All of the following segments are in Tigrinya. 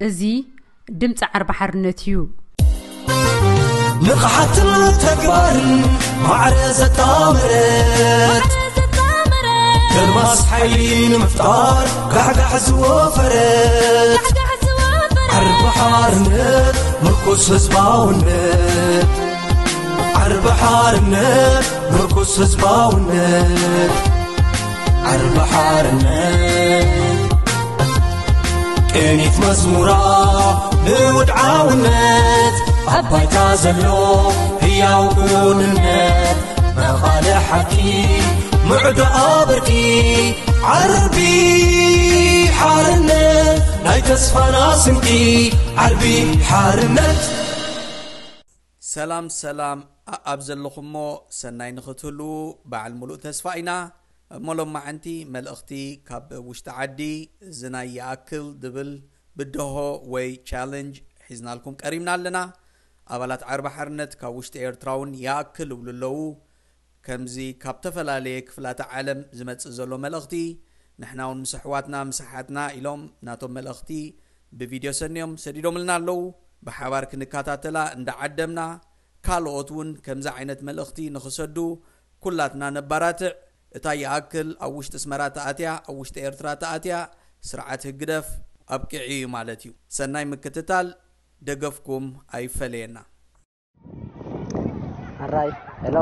እዚ ድምፂ ዓርቢ ሓርነት እዩ። ንቕሓትን ተግባርን ማዕረ ዘጣመረት ከርማስ ሓይሊ ንምፍጣር ጋሕጋሕ ዝወፈረት ዓርቢ ሓርነት ምርኩስ ህዝባውነት ዓርቢ ሓርነት ምርኩስ ህዝባውነት ዓርቢ ሓርነት ቅኒት መዝሙራ ንውድዓውነት ኣብ ባይታ ዘሎ ህያው ክውንነት መቓልሕ ሓቂ ምዕዶ ኣብርቂ ዓርቢ ሓርነት ናይ ተስፋና ስንቂ ዓርቢ ሓርነት ሰላም ሰላም ኣኣብ ዘለኹሞ ሰናይ ንኽትህልዉ በዓል ሙሉእ ተስፋ ኢና። እሞ ሎማዓንቲ መልእኽቲ ካብ ውሽጢ ዓዲ እዚ ናይ ይኣክል ድብል ብድሆ ወይ ቻለንጅ ሒዝናልኩም ቀሪብና ኣለና። ኣባላት ዓርቢ ሓርነት ካብ ውሽጢ ኤርትራ እውን ይኣክል እብሉ ኣለዉ። ከምዚ ካብ ተፈላለየ ክፍላተ ዓለም ዝመጽእ ዘሎ መልእኽቲ ንሕና እውን ምስ ኣሕዋትና ምስ ኣሓትና ኢሎም ናቶም መልእኽቲ ብቪድዮ ሰንዮም ሰዲዶምልና ኣለዉ። ብሓባር ክንከታተላ እንዳዓደምና ካልኦት እውን ከምዚ ዓይነት መልእኽቲ ንኽሰዱ ኩላትና ነባራትዕ። እታ ይኣክል ኣብ ውሽጢ ኣስመራ ተኣትያ ኣብ ውሽጢ ኤርትራ ተኣትያ ስርዓት ህግደፍ ኣብቂዑ እዩ ማለት እዩ። ሰናይ ምክትታል ደገፍኩም ኣይፈለየና። ኣራይ ሄሎ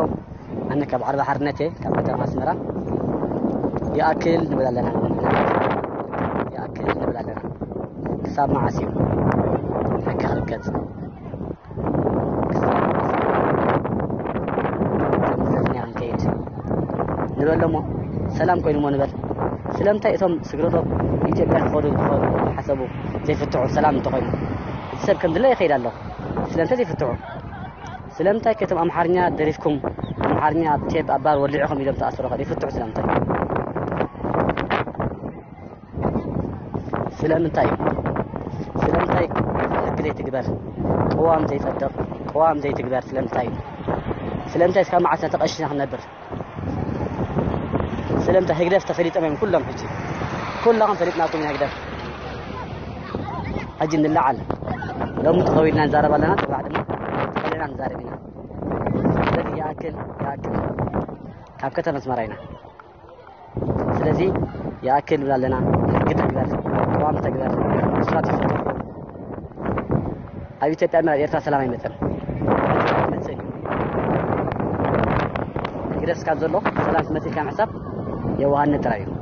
ኣነ ካብ ዓርቢ ሓርነት እየ ካብ ከተማ ኣስመራ ይኣክል ንብል ኣለና ይኣክል ንብል ኣለና ክሳብ መዓስ እዩ ሕጊ ክርገጽ ክሳብ መዓስ እዩ ከም ዝደፍንያ ክንከይድ ንበሎ እሞ ሰላም ኮይኑ እሞ ንበል ስለምንታይ እቶም ስግረዶብ ኢትዮጵያ ክኸዱ ዝኸዱ ሓሰቡ ዘይፍትሑ ሰላም እንተኾይኑ እቲ ሰብ ከም ድለ ይኸይድ ኣሎ ስለምንታይ ዘይፍትሑ ስለምንታይ ከ እቶም ኣምሓርኛ ደሪፍኩም ኣምሓርኛ ኣብ ቴፕ ኣብ ባር ወሊዕኹም ኢሎም ተኣሰሩ ከ ይፍትሑ ስለምንታይ ስለምንታይ ስለምንታይ ሕጊ ዘይትግበር ቅዋም ዘይጸድቕ ቅዋም ዘይትግበር ስለምንታይ እዩ ስለምንታይ እስካብ መዓስ ተቐሽና ክንነብር ስለምንታይ ህግደፍ ተፈሊጦም እዮም ኩሎም ሕጂ ኩላኹም ፈሊጥናኩም ኢና ህግደፍ ሕጂ ንለዓል ሎሚ ተኸዊልና ንዛረብ ኣለና ጽባሕ ድማ ተኸዊልና ንዛረብ ኢና ስለዚ ይኣክል ይኣክል ካብ ከተማ ኣስመራ ኢና ስለዚ ይኣክል ንብል ኣለና ሕጊ ተግበር ቅዋም ተግበር እሱራት ይፈጠር ኣብ ኢትዮጵያ ኣብ ኤርትራ ሰላም ኣይመፅን ይመፅእ እዩ ህግደፍ እስካብ ዘሎ ሰላም ክመፅእ ኢልካ ምሕሳብ የዋሃነት ጥራይ እዩ